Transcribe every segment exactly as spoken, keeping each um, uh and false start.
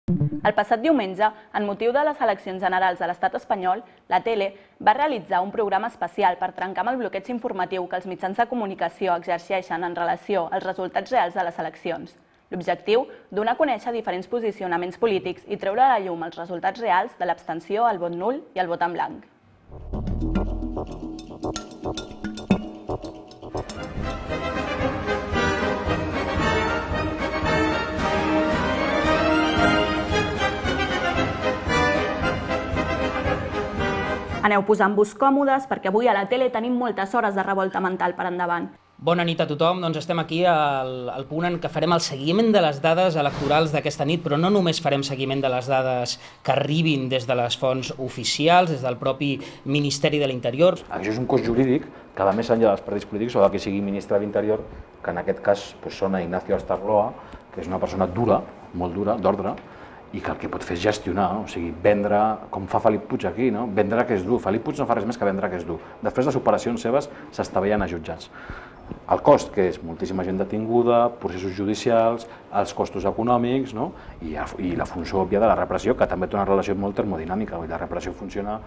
El passat diumenge, en motiu de les eleccions generals de l'estat espanyol, la tele va realitzar un programa especial per trencar amb el bloqueig informatiu que els mitjans de comunicació exerceixen en relació als resultats reals de les eleccions. L'objectiu, donar a conèixer diferents posicionaments polítics i treure a la llum els resultats reals de l'abstenció, el vot nul i el vot en blanc. Aneu posant-vos còmodes perquè avui a la tele tenim moltes hores de revolta mental per endavant. Bona nit a tothom, doncs estem aquí al, al punt en què farem el seguiment de les dades electorals d'aquesta nit, però no només farem seguiment de les dades que arribin des de les fonts oficials, des del propi Ministeri de l'Interior. Això és un cos jurídic que va més enllà dels partits polítics o del que sigui ministre de l'Interior, que en aquest cas pues, són a Ignacio Astarloa, que és una persona dura, molt dura, d'ordre, i que el que pot fer és gestionar, o sigui, vendre, com fa Felip Puig aquí, no? Vendre que és dur. Felip Puig no fa res més que vendre que és dur. Després les operacions seves s'estavellen a jutjats. El cost, que és moltíssima gent detinguda, processos judicials, els costos econòmics, no? I, i la funció òbvia de la repressió, que també té una relació molt termodinàmica. La repressió funciona...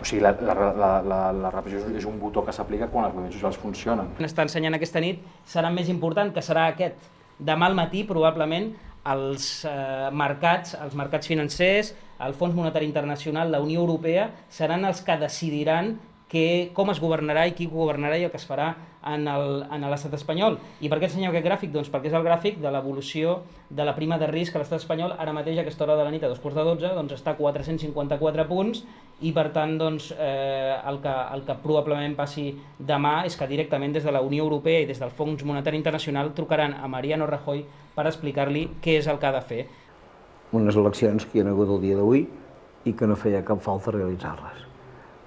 O sigui, la, la, la, la, la repressió és un botó que s'aplica quan els moviments socials funcionen. Està ensenyant aquesta nit serà més important, que serà aquest. Demà al matí, probablement, els eh, mercats, els mercats financers, el Fons Monetari Internacional, la Unió Europea, seran els que decidiran que, com es governarà i qui governarà i el que es farà en l'estat espanyol. I per què ensenyem aquest gràfic? Doncs perquè és el gràfic de l'evolució de la prima de risc a l'estat espanyol. Ara mateix, a aquesta hora de la nit, a dos quarts de dotze, doncs està a quatre-cents cinquanta-quatre punts i, per tant, doncs, eh, el, que, el que probablement passi demà és que directament des de la Unió Europea i des del Fons Monetari Internacional trucaran a Mariano Rajoy per explicar-li què és el que ha de fer. Unes eleccions que hi ha hagut el dia d'avui i que no feia cap falta realitzar-les.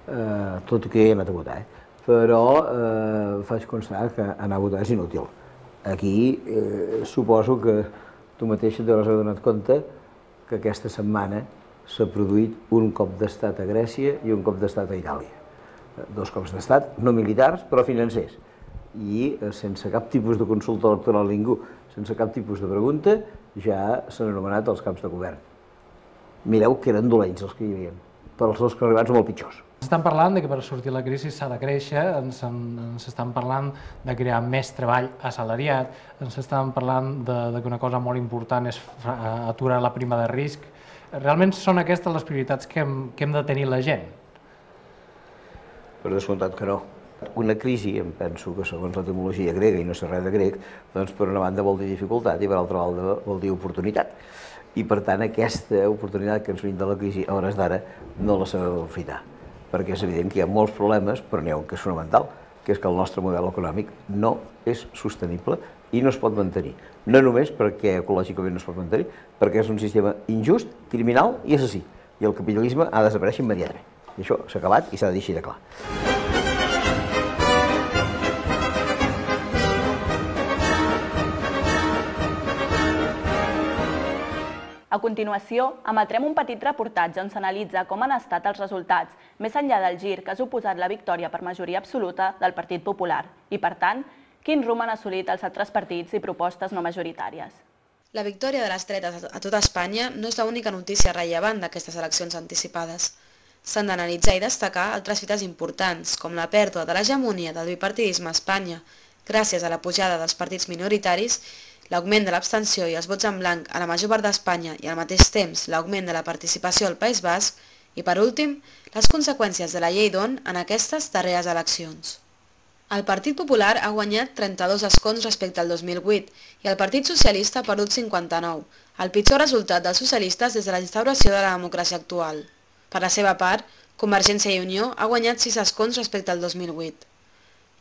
Eh, tot i que hi he anat a votar, eh? Però eh, faig constar que anar a votar és inútil. Aquí eh, suposo que tu mateixa t'hauràs adonat compte que aquesta setmana s'ha produït un cop d'estat a Grècia i un cop d'estat a Itàlia. Dos cops d'estat, no militars, però financers. I eh, sense cap tipus de consulta electoral a ningú, sense cap tipus de pregunta, ja s'han anomenat els caps de govern. Mireu que eren dolents els que hi havia, però els dos que han arribat són molt pitjors. Ens estan parlant de que per sortir de la crisi s'ha de créixer, ens, ens estan parlant de crear més treball assalariat, ens estan parlant de, de que una cosa molt important és aturar la prima de risc. Realment són aquestes les prioritats que hem, que hem de tenir la gent? Per descomptat que no. Una crisi, em penso que segons l'etimologia grega, i no sé res de grec, doncs per una banda vol dir dificultat i per altra banda vol dir oportunitat. I per tant aquesta oportunitat que ens brinda la crisi a hores d'ara no la sabem aprofitar, perquè és evident que hi ha molts problemes, però n'hi ha un que és fonamental, que és que el nostre model econòmic no és sostenible i no es pot mantenir. No només perquè ecològicament no es pot mantenir, perquè és un sistema injust, criminal i assassí. I el capitalisme ha de desaparèixer immediatament. I això s'ha acabat i s'ha de dir així de clar. A continuació, emetrem un petit reportatge on s'analitza com han estat els resultats, més enllà del gir que ha suposat la victòria per majoria absoluta del Partit Popular i, per tant, quin rumb han assolit els altres partits i propostes no majoritàries. La victòria de les dretes a tota Espanya no és l'única notícia rellevant d'aquestes eleccions anticipades. S'han d'analitzar i destacar altres fites importants, com la pèrdua de l'hegemonia del bipartidisme a Espanya, gràcies a la pujada dels partits minoritaris, l'augment de l'abstenció i els vots en blanc a la major part d'Espanya i al mateix temps l'augment de la participació al País Basc i, per últim, les conseqüències de la llei d'On en aquestes darreres eleccions. El Partit Popular ha guanyat trenta-dos escons respecte al dos mil vuit i el Partit Socialista ha perdut cinquanta-nou, el pitjor resultat dels socialistes des de la instauració de la democràcia actual. Per la seva part, Convergència i Unió ha guanyat sis escons respecte al dos mil vuit.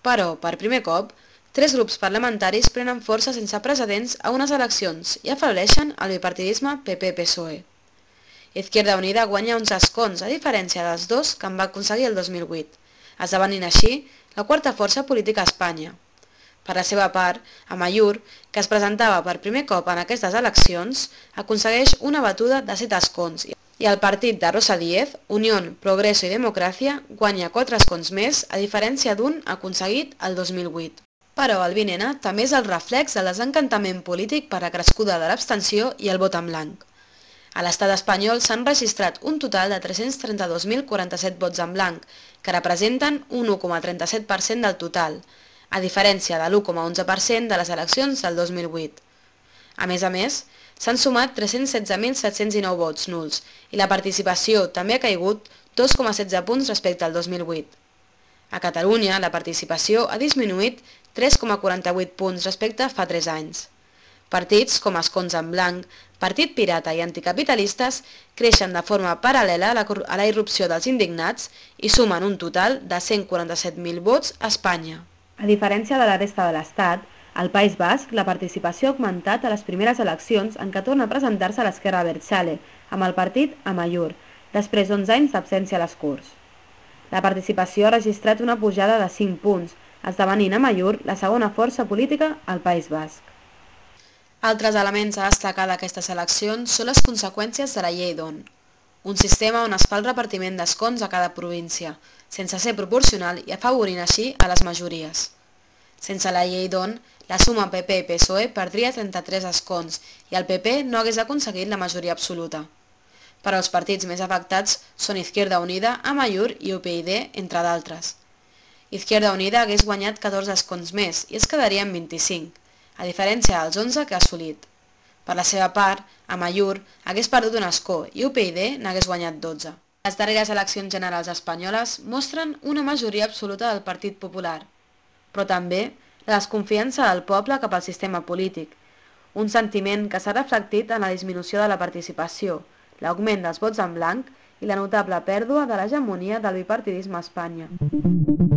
Però, per primer cop, tres grups parlamentaris prenen força sense precedents a unes eleccions i afebleixen el bipartidisme P P P S O E. Izquierda Unida guanya uns escons, a diferència dels dos que en va aconseguir el dos mil vuit, esdevenint així la quarta força política a Espanya. Per la seva part, Amaiur, que es presentava per primer cop en aquestes eleccions, aconsegueix una batuda de set escons i el partit de Rosa Díez, Unión, Progreso i Democràcia, guanya quatre escons més, a diferència d'un aconseguit el dos mil vuit. Però el vint ena també és el reflex del desencantament polític per la crescuda de l'abstenció i el vot en blanc. A l'estat espanyol s'han registrat un total de tres-cents trenta-dos mil quaranta-set vots en blanc, que representen un u coma trenta-set per cent del total, a diferència de l'u coma onze per cent de les eleccions del dos mil vuit. A més a més, s'han sumat tres-cents setze mil set-cents dinou vots nuls i la participació també ha caigut dos coma setze punts respecte al dos mil vuit. A Catalunya, la participació ha disminuït tres coma quaranta-vuit punts respecte a fa tres anys. Partits com Escons en Blanc, Partit Pirata i Anticapitalistes creixen de forma paral·lela a la irrupció dels indignats i sumen un total de cent quaranta-set mil vots a Espanya. A diferència de la resta de l'Estat, al País Basc la participació ha augmentat a les primeres eleccions en què torna a presentar-se l'Esquerra Abertzale, amb el partit Amaiur, després d'onze anys d'absència a les Corts. La participació ha registrat una pujada de cinc punts, esdevenint Amaiur la segona força política al País Basc. Altres elements a destacar d'aquestes eleccions són les conseqüències de la llei d'On, un sistema on es fa el repartiment d'escons a cada província, sense ser proporcional i afavorint així a les majories. Sense la llei d'On, la suma P P i P S O E perdria trenta-tres escons i el P P no hagués aconseguit la majoria absoluta. Però els partits més afectats són Izquierda Unida, Amaiur i U P y D, entre d'altres. Izquierda Unida hagués guanyat catorze escons més i es quedaria en vint-i-cinc, a diferència dels onze que ha assolit. Per la seva part, Amaiur hagués perdut un escó i U P y D n'hagués guanyat dotze. Les darreres eleccions generals espanyoles mostren una majoria absoluta del Partit Popular, però també la desconfiança del poble cap al sistema polític, un sentiment que s'ha reflectit en la disminució de la participació, l'augment dels vots en blanc i la notable pèrdua de l'hegemonia del bipartidisme a Espanya.